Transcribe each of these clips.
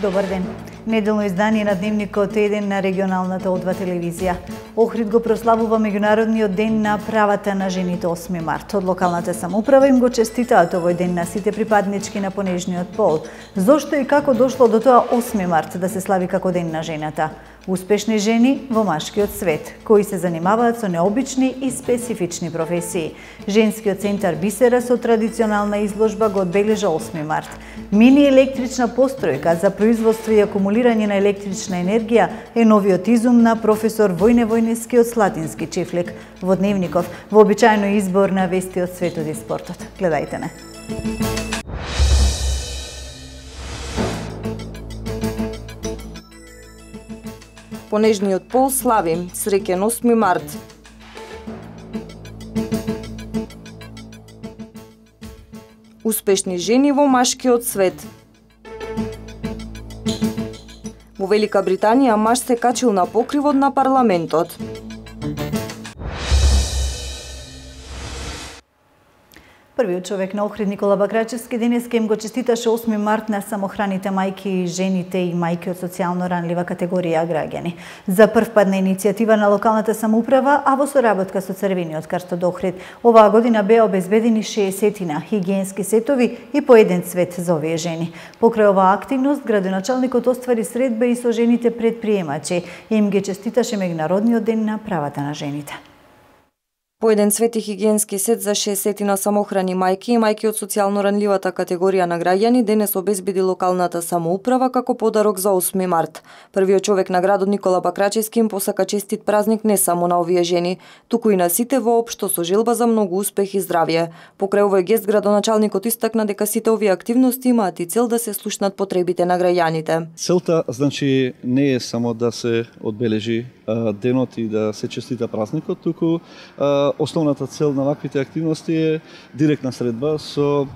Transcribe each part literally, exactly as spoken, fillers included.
Добар ден. Неделно издание на Дневникот еден на регионалната О два телевизија. Охрид го прославува Меѓународниот ден на правата на жените осми март. Од локалната самоуправа им го честитаат овој ден на сите припаднички на понежниот пол. Зошто и како дошло до тоа осми март да се слави како ден на жената? Успешни жени во машкиот свет, кои се занимаваат со необични и специфични професии. Женскиот центар Бисера со традиционална изложба го одбележа осми март. Мини електрична постројка за производство и акумулирање на електрична енергија е новиот изум на професор Војне Војнески од Слатински Чифлик. Во Дневников, вообичаено избор на вести од светот и спортот. Гледајте не. Понежниот пол слави. Среќен осми март. Успешни жени во машкиот свет. Во Велика Британија маж се качил на покривот на парламентот. Првиот човек на Охрид Никола Бакрачевски денеска им го честиташе осми март на самохраните мајки и жените и мајки од социјално ранлива категорија граѓани. За прв пат на иницијатива на локалната самоуправа, а во соработка со Црвениот крст од Охрид, оваа година беа обезбедени шеесетина хигиенски сетови и по еден цвет за овие жени. Покрај оваа активност, градоначалникот оствари средба и со жените предприемачи и им ги честиташе Меѓународниот ден на правата на жените. По еден цвет и хигиенски сет за шеесетина самохрани мајки и мајки од социјално ранливата категорија на граѓани денес обезбеди локалната самоуправа како подарок за осми март. Првиот човек на градот Никола Бакрачевски им посака честит празник не само на овие жени, туку и на сите воопшто со желба за многу успех и здравје. Покрај овој гест градоначалникот истакна дека сите овие активности имаат и цел да се слушнат потребите на граѓаните. Целта значи не е само да се одбележи денот и да се честита празникот, туку основната цел на ваквите активности е директна средба со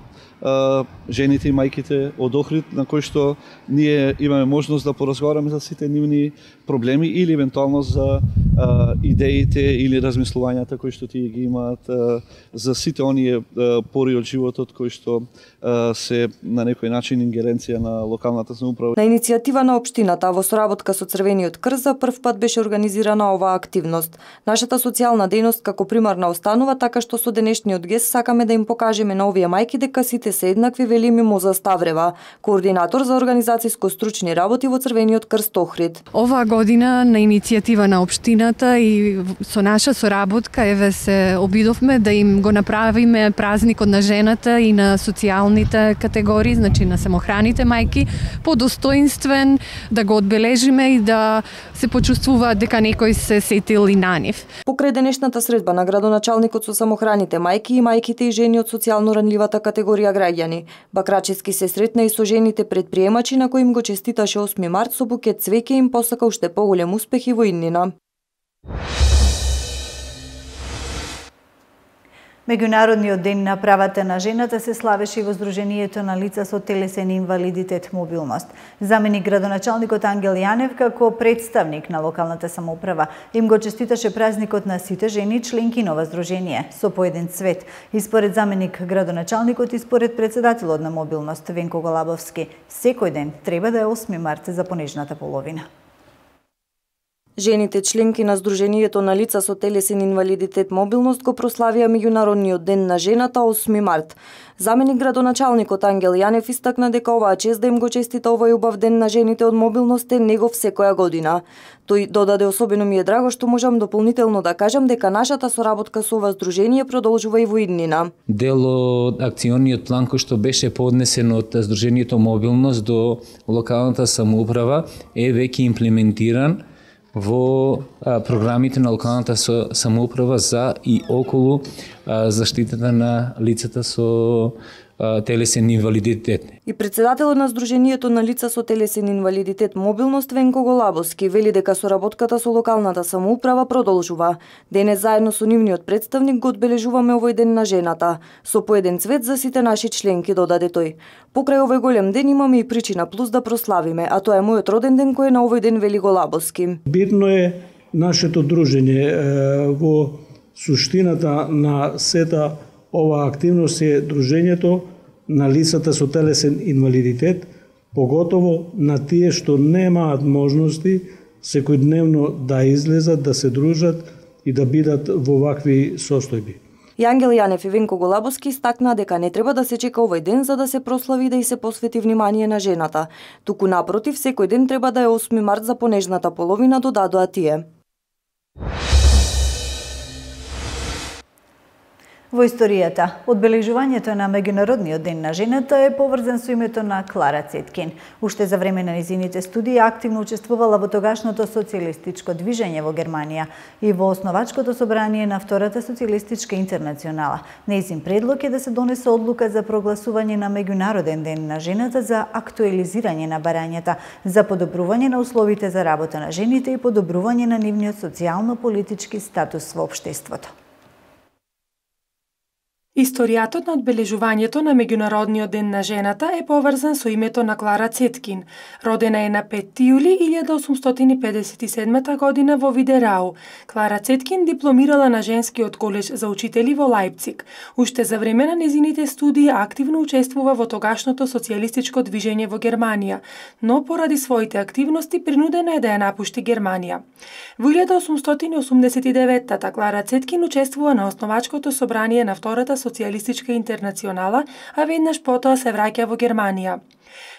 жените и мајките од Охрид, на кои што ние имаме можност да поразговараме за сите нивни проблеми или евентуално за а, идеите или размислувањата кои што тие ги имаат а, за сите оние а, пори од животот кои што а, се на некој начин ингеренција на локалната самоуправа. На иницијатива на општината во соработка со Црвениот крст за прв пат беше организирана оваа активност. Нашата социјална дејност како примарна останува, така што со денешниот гест сакаме да им покажеме на овие мајки дека сите се еднакви, вели Мимоза Ставрева, координатор за организацијско-стручни работи во Црвениот крст Охрид. Оваа година на иницијатива на општината и со наша соработка еве се обидовме да им го направиме празникот на жената и на социјалните категории, значи на самохраните мајки, подостоинствен, да го одбележиме и да се почувствува дека некој се сетил и на нив. Покрај денешната средба на градоначалникот со самохраните мајки и мајките и жени од социјално ранливата категорија граѓани, Бакрачевски се сретна и со жените предприемачи на кои им го честиташе осми март со букет цвеќе и им посака уште поголем успех и во иднина. Меѓународниот ден на правата на жената се славеше и во Сдруженијето на лица со телесен инвалидитет мобилност. Заменик градоначалникот Ангел Јанев како представник на локалната самоуправа им го честиташе празникот на сите жени членки на ова здружение со по еден цвет. И според заменик градоначалникот и според председателот на мобилност Венко Голабовски, секој ден треба да е осми март за понежната половина. Жените членки на Сдруженијето на лица со телесен инвалидитет мобилност го прославија Меѓународниот ден на жената осми март. Заменик градоначалникот Ангел Јанев истакна дека оваа чест да им го честита овој убав ден на жените од мобилност е негов секоја година. Тој додаде: особено ми е драго што можам дополнително да кажам дека нашата соработка со ова здружение продолжува и во иднина. Дел од акциониот план кој што беше поднесен од Сдруженијето мобилност до локалната самоуправа е веќе имплементиран во а, програмите на локалната самоуправа за и околу а, заштитата на лицата со а, телесен инвалидитет. И председателот на Сдруженијето на лица со телесен инвалидитет мобилност Венко Голабовски вели дека соработката со локалната самоуправа продолжува. Денес заедно со нивниот представник го одбележуваме овој ден на жената, со по еден цвет за сите наши членки, додаде тој. Покрај овој голем ден имаме и причина плюс да прославиме, а тоа е мојот роден ден кој е на овој ден, вели Голабовски. Битно е нашето дружење. Во суштината на сета ова активност е дружењето на лицата со телесен инвалидитет, поготово на тие што немаат можности секојдневно да излезат, да се дружат и да бидат во вакви состојби. Јангел Јанев и Венко Голабовски стакна дека не треба да се чека овој ден за да се прослави и да и се посвети внимание на жената. Туку напротив, секој ден треба да е осми март за понежната половина, додадоа тие. Во историјата, одбележувањето на Меѓународниот ден на жената е поврзан со името на Клара Цеткин. Уште за време на незините студии активно учествувала во тогашното социјалистичко движење во Германија и во основачкото собрание на Втората социјалистичка интернационала. Нејзин предлог е да се донесе одлука за прогласување на Меѓународен ден на жената за актуализирање на барањата, за подобрување на условите за работа на жените и подобрување на нивниот социјално-политички статус во општеството. Историјатот на одбележувањето на Меѓународниот ден на жената е поврзан со името на Клара Цеткин. Родена е на петти јули илјада осумстотини педесет и седма година во Видерау. Клара Цеткин дипломирала на Женскиот колеж за учители во Лајпциг. Уште за време на незините студии активно учествува во тогашното социјалистичко движење во Германија, но поради своите активности принудена е да ја напушти Германија. Во илјада осумстотини осумдесет и девета Клара Цеткин учествува на основачкото собрание на Втората социјалистичка интернационала, а веднаш потоа се враќа во Германија.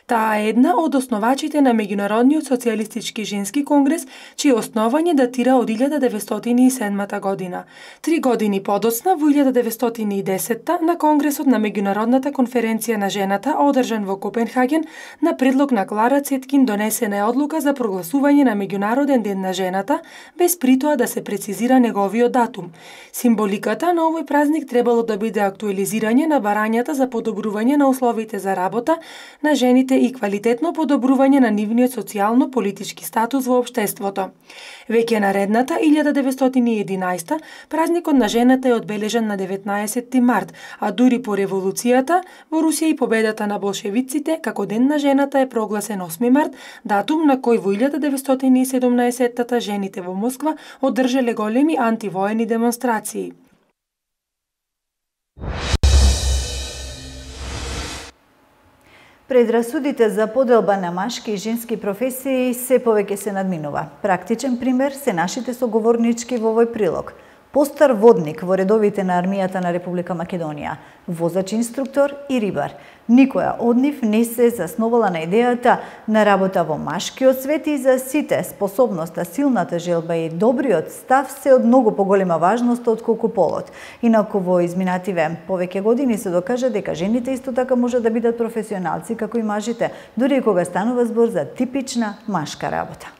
Таа е една од основачите на Меѓународниот социјалистички женски конгрес, чие основање датира од илјада деветстотини и седма година. Три години подоцна, во илјада деветстотини и десета, на Конгресот на Меѓународната конференција на жената, одржан во Копенхаген, на предлог на Клара Цеткин донесена е одлука за прогласување на Меѓународен ден на жената, без притоа да се прецизира неговиот датум. Символиката на овој празник требало да биде актуализирање на барањата за подобрување на условите за работа на жените и квалитетно подобрување на нивниот социјално-политички статус во општеството. Веќе наредната илјада деветстотини и единаесета празникот на жената е одбележан на деветнаесетти март, а дури по револуцијата во Русија и победата на болшевиците како ден на жената е прогласен осми март, датум на кој во илјада деветстотини и седумнаесетта жените во Москва одржале големи антивоени демонстрации. Предрасудите за поделба на машки и женски професии се повеќе се надминува. Практичен пример се нашите соговорнички во овој прилог. Постар водник во редовите на армијата на Република Македонија, возач-инструктор и рибар. Никоја од нив не се засновала на идејата на работа во машкиот свет и за сите способноста, силната желба и добриот став се од многу поголема важност отколку полот. Инаку во изминативе повеќе години се докажа дека жените исто така можат да бидат професионалци како и мажите, дури и кога станува збор за типична машка работа.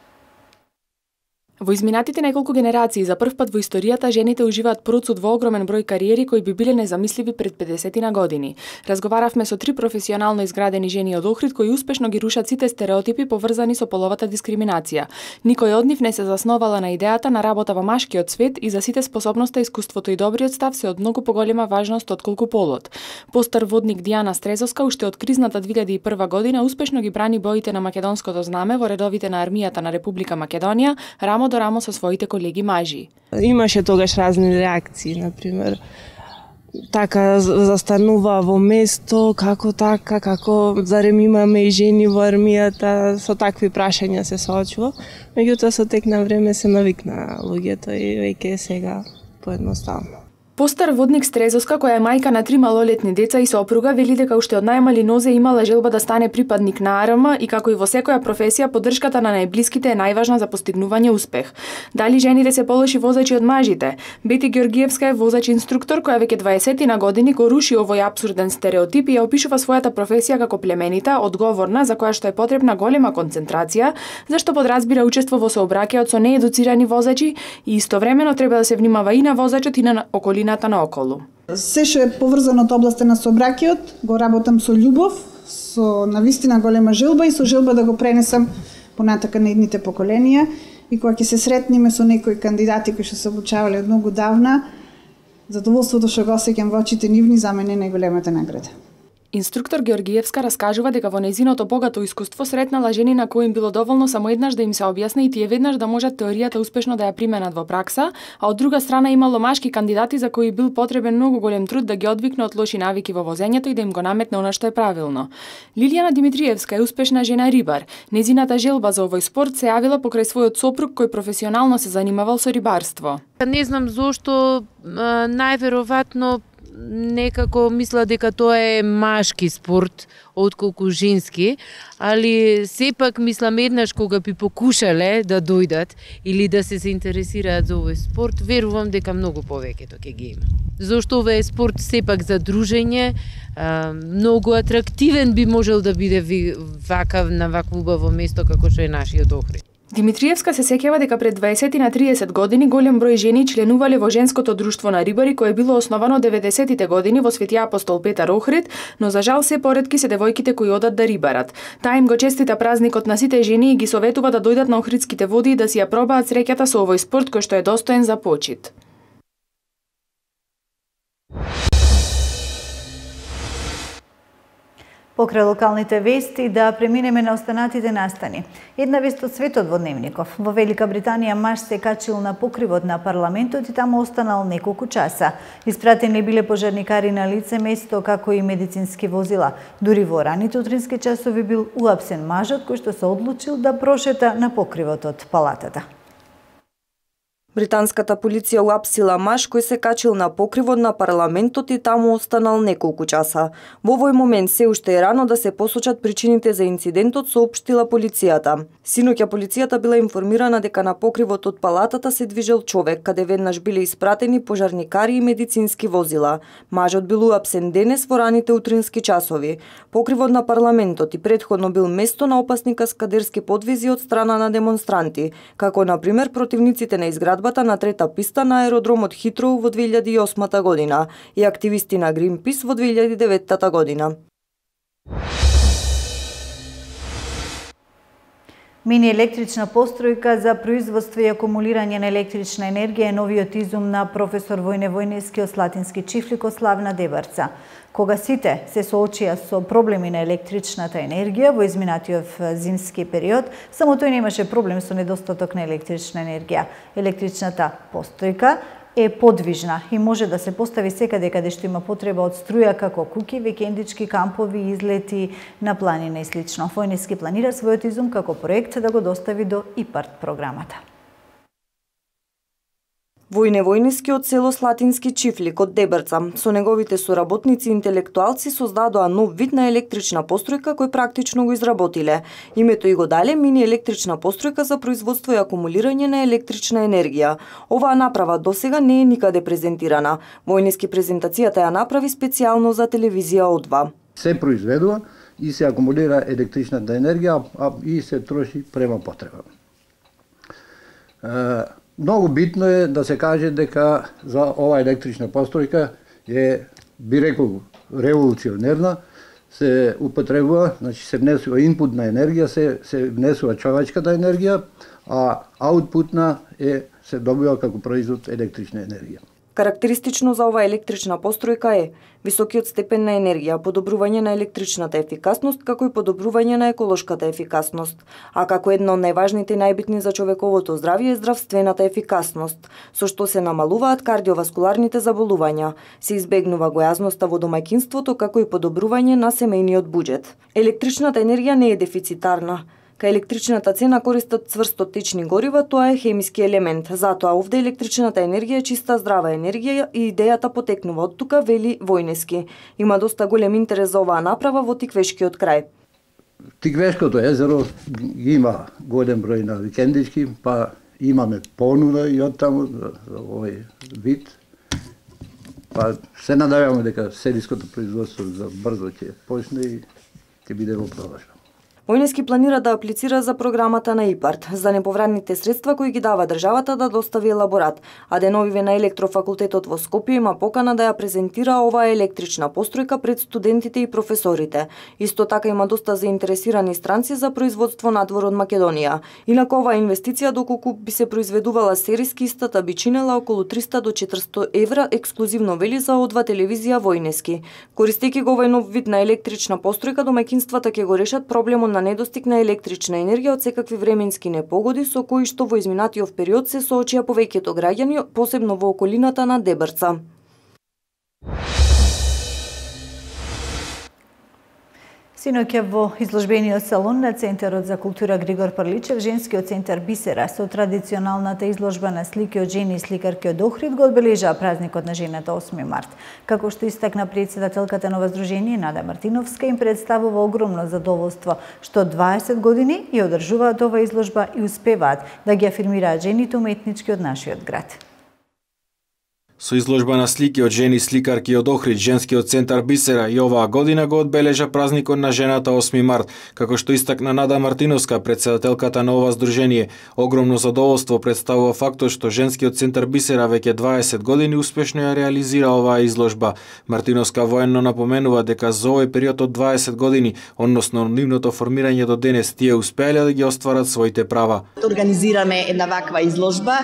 Во изминатите неколку генерации за прв пат во историјата жените уживаат процуд во огромен број кариери кои би биле незамисливи пред педесетина години. Разговаравме со три професионално изградени жени од Охрид кои успешно ги рушат сите стереотипи поврзани со половата дискриминација. Никој од нив не се засновала на идејата на работа во машкиот свет и за сите способноста, искуството и добриот став се од многу поголема важност отколку полот. Постар водник Дијана Стрезовска уште од кризната две илјади и прва година успешно ги брани боите на македонското знаме во редовите на армијата на Република Македонија, рамо до рамо со своите колеги мажи. Имаше тогаш разни реакции, например, така застанува во место, како така, како зарем имаме и жени во армијата, со такви прашања се соочува. Меѓутоа со тек на време се навикна луѓето и веќе сега поедноставно. Постар водник Стрезовска, која е мајка на три малолетни деца и сопруга, вели дека уште од најмали нозе имала желба да стане припадник на ар ем и како и во секоја професија поддршката на најблиските е најважна за постигнување успех. Дали жените се полоши возачи од мажите? Бети Георгиевска е возач-инструктор која веќе дваесет години го руши овој апсурден стереотип и ја опишува својата професија како племенита, одговорна, за која што е потребна голема концентрација, зашто подразбира учество во сообраќајот со неедуцирани возачи и истовремено треба да се внимава и на возачот и на околината наоколу. Се што е поврзано од областа на сообраќајот, го работам со љубов, со навистина голема желба и со желба да го пренесам понатака на идните поколенија и кога ќе се сретниме со некои кандидати кои што се обучавале од многу давна, задоволството што го осеќам во очите нивни за мене е најголемата награда. Инструктор Георгиевска раскажува дека во нејзиното богато искуство сретнала жени на кои им било доволно само еднаш да им се објасни и тие веднаш да можат теоријата успешно да ја применат во пракса, а од друга страна имало машки кандидати за кои бил потребен многу голем труд да ги одвикне од лоши навики во возењето и да им го наметне она што е правилно. Лилијана Димитриевска е успешна жена рибар. Нејзината желба за овој спорт се јавила покрај својот сопруг кој професионално се занимавал со рибарство. Не знам зошто, најверојатно некако мисла дека тоа е машки спорт отколку женски, али сепак мислам еднаш кога би покушале да дојдат или да се заинтересираат за овој спорт, верувам дека многу повеќето ќе ги има. Зошто овој спорт сепак за дружење, многу атрактивен би можел да биде вакав на вакво убаво место како што е нашиот Охрид. Димитриевска се сеќава дека пред дваесет на триесет години голем број жени членувале во женското друштво на рибари кое било основано деветдесетите години во Свети апостол Петар Охрид, но за жал се поретки се девојките кои одат да рибарат. Таа им го честита празникот на сите жени и ги советува да дојдат на Охридските води и да си ја пробаат среќата со овој спорт кој што е достоен за почит. Покрај локалните вести да преминеме на останатите настани. Една вест од светот во Дневников. Во Велика Британија маж се качил на покривот на парламентот и таму останал неколку часа. Испратени биле пожарникари на лице место, како и медицински возила. Дури во раните утрински часови бил уапсен мажот кој што се одлучил да прошета на покривот од палатата. Британската полиција уапсила маж кој се качил на покривот на парламентот и таму останал неколку часа. Во овој момент се уште е рано да се посочат причините за инцидентот, соопштила полицијата. Синоќа полицијата била информирана дека на покривот од палатата се движел човек, каде веднаш биле испратени пожарникари и медицински возила. Мажот бил уапсен денес во раните утрински часови. Покривот на парламентот и претходно бил место на опасни каскадерски подвизи од страна на демонстранти, како на пример противниците на изградба на трета писта на аеродромот Хитроу во две илјади и осма година и активисти на Гринпис во две илјади и девета година. Мини електрична постројка за производство и акумулирање на електрична енергија е новиот изум на професор Војне Војнески од Слатински чифлик од Славна Дебарца. Кога сите се соочија со проблеми на електричната енергија во изминатиот зимски период, само тој немаше проблем со недостаток на електрична енергија. Електричната постројка е подвижна и може да се постави секаде каде што има потреба од струја, како куќи, викендички, кампови, излети на планина и слично. Војнески планира својот изум како проект да го достави до ИПАРТ програмата. Војне Војнески од село Слатински чифлик од Дебарца. Со неговите соработници и интелектуалци создадоа нов вид на електрична постројка кој практично го изработиле. Името и го дале мини електрична постројка за производство и акумулирање на електрична енергија. Оваа направа досега не е никаде презентирана. Војнески презентацијата ја направи специјално за телевизија О два. Се произведува и се акумулира електричната енергија, а и се троши према потреба. Многу битно е да се каже дека за оваа електрична постројка е, би рекол, револуционерна, се употребува, значи се внесува инпутна енергија, се, се внесува човечката енергија, а аутпутна е се добива како производ електрична енергија. Карактеристично за оваа електрична постројка е високиот степен на енергија, подобрување на електричната ефикасност, како и подобрување на еколошката ефикасност. А како една од најважните и најбитни за човековото здравје е здравствената ефикасност, со што се намалуваат кардиоваскуларните заболувања, се избегнува гојазноста во домаќинството, како и подобрување на семејниот буџет. Електричната енергија не е дефицитарна. Кај електричната цена користат цврсто течни горива, тоа е хемиски елемент. Затоа овде електричната енергија е чиста здрава енергија и идејата потекнува од тука, вели Војнески. Има доста голем интерес за оваа направа во Тиквешкиот крај. Тиквешкото езеро има голем број на викендички, па имаме понуда и од таму за овој вид. Па се надеваме дека селиското производство за брзо ќе почне и ќе биде во продажба. Војнески планира да аплицира за програмата на ИПАРТ за неповратните средства кои ги дава државата да достави елаборат, а деновиве на електрофакултетот во Скопје има покана да ја презентира оваа електрична постројка пред студентите и професорите. Исто така има доста заинтересирани странци за производство надвор од Македонија. Инаку оваа инвестиција доколку би се произведувала сериски, истата би чинела околу триста до четиристотини евра ексклузивно, вели за О два телевизија Војнески. Користејќи го овој нов вид на електрична постројка, домаќинствата ќе го решат проблемот на недостиг на електрична енергија од секакви временски непогоди со кои што во изминатиот период се соочија повеќето граѓани, посебно во околината на Дебрца. Синоќа во изложбениот салон на Центарот за култура Григор Прличев, женскиот центар Бисера со традиционалната изложба на слики од жени и сликарки од Охрид го одбележаа празникот на жената осми март. Како што истакна претседателката на ова здружение Нада Мартиновска, им представува огромно задоволство што дваесет години ја одржуваат ова изложба и успеваат да ги афирмираат жените уметнички од нашиот град. Со изложба на слики од жени сликарки од Охрид, женскиот центар Бисера и оваа година го одбележа празникот на жената осми март, како што истакна Нада Мартиновска, претседателката на ова здружение. Огромно задоволство представува фактот што женскиот центар Бисера веќе дваесет години успешно ја реализира оваа изложба. Мартиновска военно напоменува дека за овој период од дваесет години, односно нивното формирање до денес, тие успеале да ги остварат своите права. Организираме една ваква изложба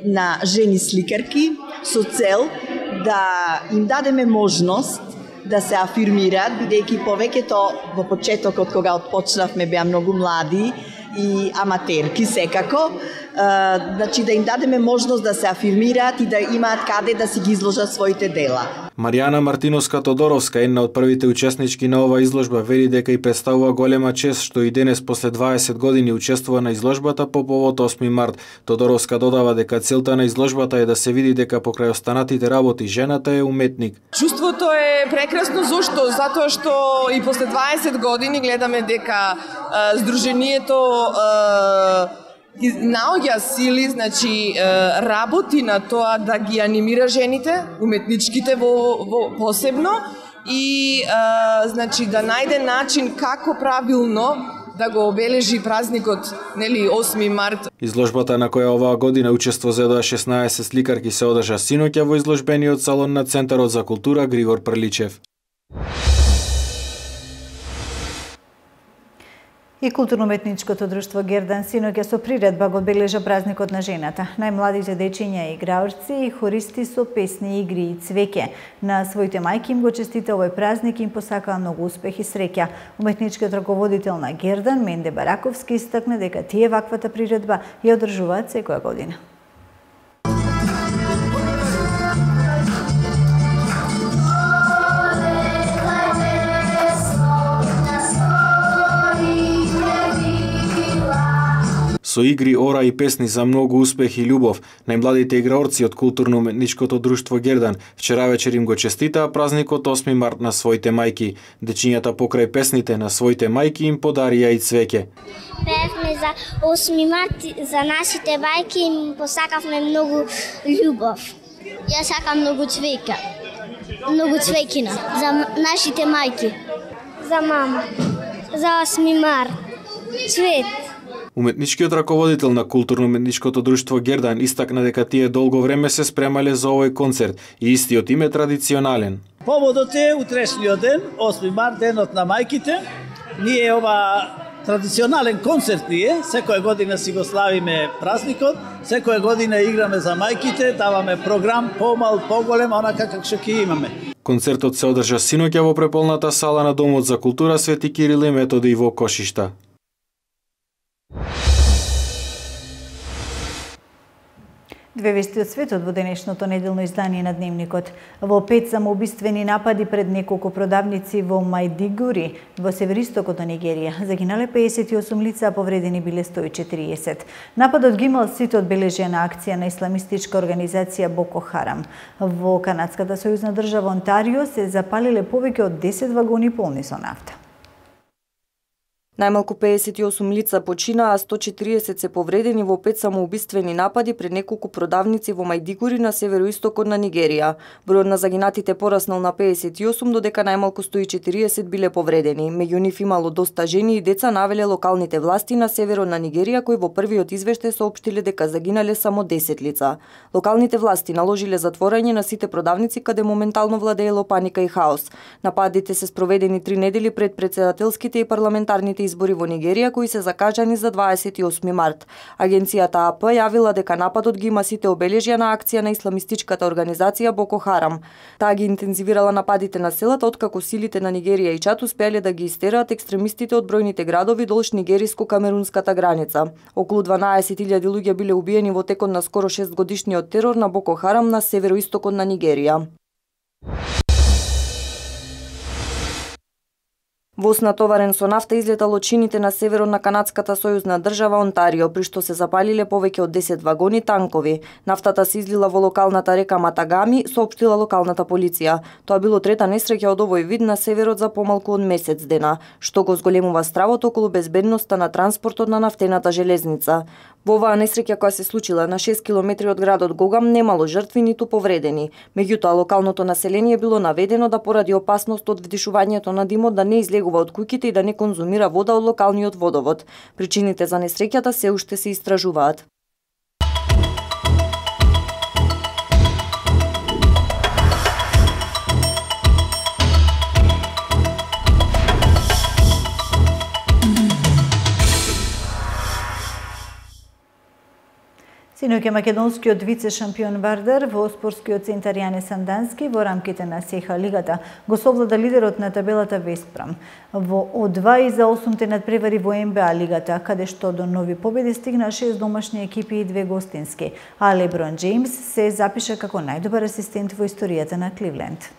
на жени сликарки со цел да им дадеме можност да се афирмираат, бидејќи повеќето во почетокот кога отпочнавме беа многу млади и аматерки секако, значи да им дадеме можност да се афирмираат и да имаат каде да си ги изложат своите дела. Маријана Мартиновска-Тодоровска, една од првите учеснички на оваа изложба, вели дека и представува голема чест што и денес после дваесет години учествува на изложбата по повод осми март. Тодоровска додава дека целта на изложбата е да се види дека покрај останатите работи жената е уметник. Чувството е прекрасно, зошто? Затоа што и после дваесет години гледаме дека а, здружението а, наоѓа сили, значи работи на тоа да ги анимира жените, уметничките во, во посебно и а, значи да најде начин како правилно да го обележи празникот, нели, осми март. Изложбата на која оваа година учество зедоа шеснаесет сликарки се одржа синоќа во изложбениот салон на Центарот за култура Григор Прличев. И културно-уметничкото друштво Гердан синоќа со приредба го одбележа празникот на жената. Најмладите дечиња и играорци и хористи со песни, игри и цвеќе. На своите мајки им го честита овој празник и им посакаа многу успех и среќа. Уметничкиот раководител на Гердан, Менде Бараковски, истакна дека тие ваквата приредба ја одржуваат секоја година. Со игри, ора и песни за многу успех и љубов, најмладите играорци од културно-уметничкото друштво Гердан вчера вечер им го честитаа празникот осми март на своите мајки. Дечињата покрај песните на своите мајки им подарија и цвеќе. Певме за осми март за нашите мајки и им посакавме многу љубов. Јас сакам многу цвеќа. Многу цвеќина за нашите мајки. За мама. За осми март. Цвет. Уметничкиот раководител на културно-уметничкото друштво Гердан истакна дека тие долго време се спремале за овој концерт и истиот им е традиционален. Поводот е утрешниот ден, осми март, денот на мајките. Ние ова традиционален концерт ние, секоја година си го славиме празникот, секоја година играме за мајките, даваме програм помал, поголем, онака како што ќе имаме. Концертот се одржа синоќа во преполната сала на Домот за култура Свети Кирил и Методи во Кошишта. Две вести од светот во денешното неделно издание на Дневникот. Во пет самоубиствени напади пред неколку продавници во Мајдигури, во североистокот на Нигерија. Загинале пеесет и осум лица, а повредени биле сто и четириесет. Нападот ги имал сите одбележија на акција на исламистичка организација Боко Харам. Во канадската сојузна држава Онтарио се запалиле повеќе од десет вагони полни со нафта. Најмалку педесет и осум лица починаа, а сто и четириесет се повредени во пет самоубиствени напади пред неколку продавници во Мајдигури на североистокот на Нигерија. Бројот на загинатите пораснал на педесет и осум, додека најмалку сто и четириесет биле повредени. Меѓу нив имало доста жени и деца, навеле локалните власти на северот на Нигерија, кои во првиот извештај соопштиле дека загинале само десет лица. Локалните власти наложиле затворање на сите продавници, каде моментално владеело паника и хаос. Нападите се спроведени три недели пред претседателските и парламентарните избори во Нигерија, кои се закажани за дваесет и осми март. Агенцијата А П јавила дека нападот ги има сите обележја на акција на исламистичката организација Боко Харам. Таа ги интензивирала нападите на селата откако силите на Нигерија и Чад успеале да ги истераат екстремистите од бројните градови долж нигериско-камерунската граница. Околу дванаесет илјади луѓе биле убиени во текот на скоро шест годишниот терор на Боко Харам на североистокот на Нигерија. Воз натоварен со нафта излетал од чините на северот на канадската сојузна држава Онтарио, при што се запалиле повеќе од десет вагони танкови. Нафтата се излила во локалната река Матагами, соопштила локалната полиција. Тоа било трета несреќа од овој вид на северот за помалку од месец дена, што го зголемува стравот околу безбедноста на транспортот на нафтената железница. Во оваа несреќа која се случила на шест километри од градот Гогам немало жртви ниту повредени. Меѓутоа локалното население било наведено да поради опасност од вдишувањето на димот да не излегува од куќите и да не конзумира вода од локалниот водовод. Причините за несреќата се уште се истражуваат. Синоќа македонскиот вице-шампион Вардар во спортскиот центар Јане Сандански во рамките на СЕХА лигата го совлада лидерот на табелата Веспрам. Во О два и за осум те надпревари во Н Б А лигата, каде што до нови победи стигна шест домашни екипи и две гостински, а Леброн Џејмс се запиша како најдобар асистент во историјата на Кливленд.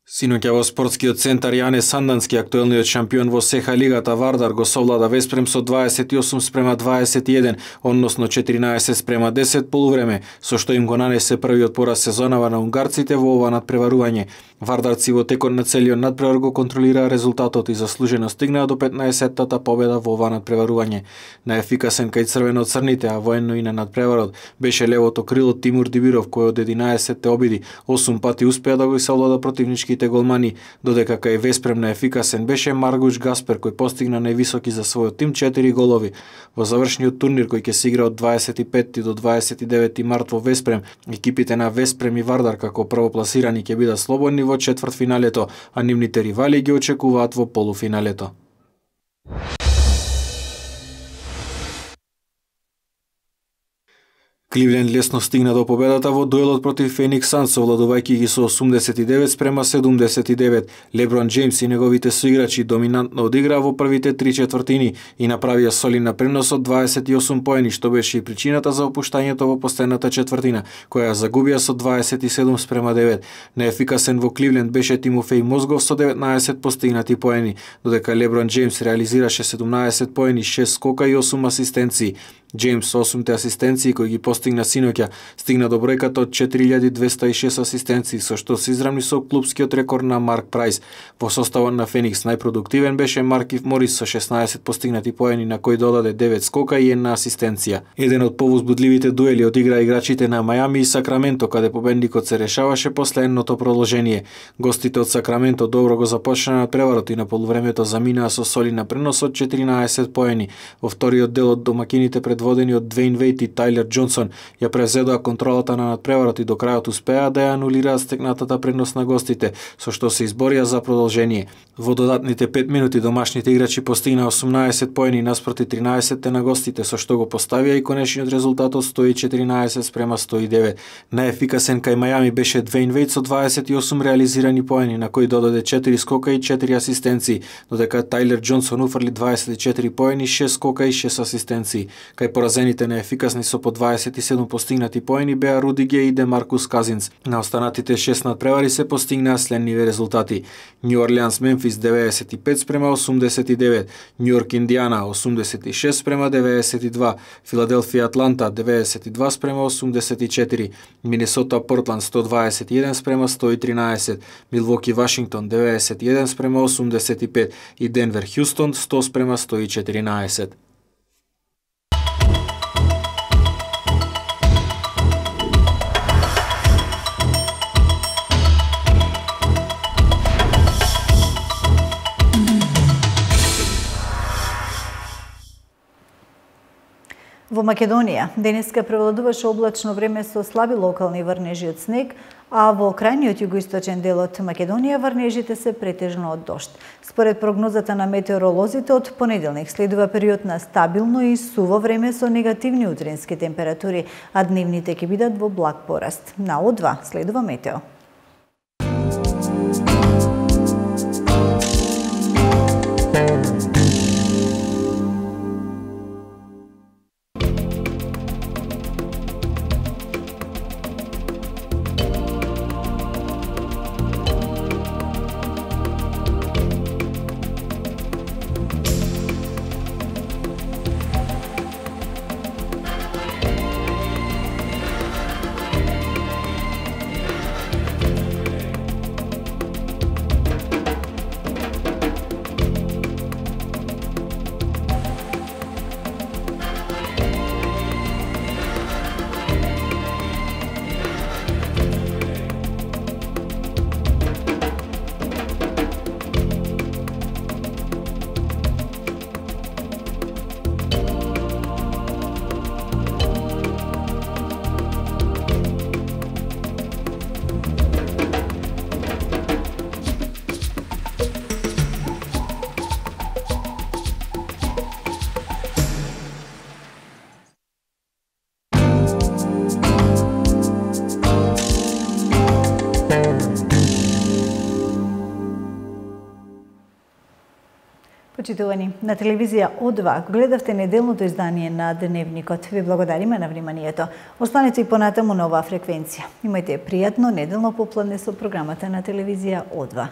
Синоќа во спортскиот центар Јане Сандански, актуелниот шампион во СЕХА лигата Вардар го совлада Веспрем со дваесет и осум спрема дваесет и еден, односно четиринаесет спрема десет полувреме, со што им го нанесе првиот пораз сезонава на унгарците во ова надпреварување. Вардарци во текот на целиот надпревар го контролираа резултатот и заслужено стигнаа до петнаесеттата победа во ова надпреварување. Наефикасен кај црвено-црните, а военно и на надпреварот беше левото крило Тимур Дибиров, кој од единаесетте обиди осум пати успеа да го совлада противничките голмани, додека кај Веспрем наефикасен беше Маргуш Гаспер, кој постигна највисоки за својот тим четири голови. Во завршниот турнир кој ќе се игра од дваесет и петти до дваесет и деветти март во Веспрем, екипите на Веспрем и Вардар како првопласирани ќе бидат слободни во четвртфиналето, а нивните ривали ги очекуваат во полуфиналето. Кливленд лесно стигна до победата во дуелот против Феникс Санс, овладувајќи ги со осумдесет и девет спрема седумдесет и девет. Леброн Џејмс и неговите соиграчи доминантно одиграа во првите три четвртини и направија солидна пренос од дваесет и осум поени, што беше и причината за опуштањето во последната четвртина, која загубија со дваесет и седум спрема девет. Неефикасен во Кливленд беше Тимофеј Мозгов со деветнаесет постигнати поени, додека Леброн Џејмс реализираше седумнаесет поени, шест скока и осум асистенции. Џејмс со осумте асистенции кои ги постигна синоќа стигна до бројката од четири илјади двесте и шест асистенции, со што се изравни со клупскиот рекорд на Марк Прајс. Во составот на Феникс најпродуктивен беше Маркив Морис со шеснаесет постигнати поени, на кој додаде девет скока и една асистенција. Еден од повозбудливите дуели одигра играчите на Мајами и Сакраменто, каде победникот се решаваше после едното продолжение. Гостите од Сакраменто добро го започнаа надпреварот и на полувремето заминаа со солидна пренос од четиринаесет поени. Во вториот дел од домакините пред водени од Двејн Вејт и Тајлер Џонсон ја презедоа контролата на надпреварот и до крајот успеа да ја анулираат стекнатата предност на гостите, со што се изборија за продолжение. Во додатните пет минути домашните играчи постигнаа осумнаесет поени наспроти тринаесет на гостите, со што го поставија и конечниот резултат од сто и четиринаесет спрема сто и девет. Најефикасен кај Мајами беше Двејн Вејт со дваесет и осум реализирани поени, на кој додаде четири скока и четири асистенции, додека Тајлер Џонсон уфрли дваесет и четири поени, шест скока и шест асистенции. Кај Најпоразените неефикасни со по дваесет и седум постигнати поени беа Руди Геј и Демаркус Казинц. На останатите шест надпревари се постигнаа следниве резултати: Нью Орлеанс Мемфис деветдесет и пет спрема осумдесет и девет, Нью Йорк Индијана осумдесет и шест спрема деветдесет и два, Филаделфија Атланта деветдесет и два спрема осумдесет и четири, Минесота Портланд сто дваесет и еден спрема сто и тринаесет, Милвоки Вашингтон деветдесет и еден спрема осумдесет и пет и Денвер Хјустон сто спрема сто и четиринаесет. Во Македонија денеска превладуваше облачно време со слаби локални врнежи од снег, а во крајниот југоисточен дел од Македонија врнежите се претежно од дожд. Според прогнозата на метеоролозите, од понеделник следува период на стабилно и суво време со негативни утрински температури, а дневните ќе бидат во благ пораст. На О два следува метео. Почитувани, на телевизија О два гледавте неделното издание на Дневникот. Ви благодариме на вниманието. Останете и понатаму на оваа фреквенција. Имајте пријатно неделно попладне со програмата на телевизија О два.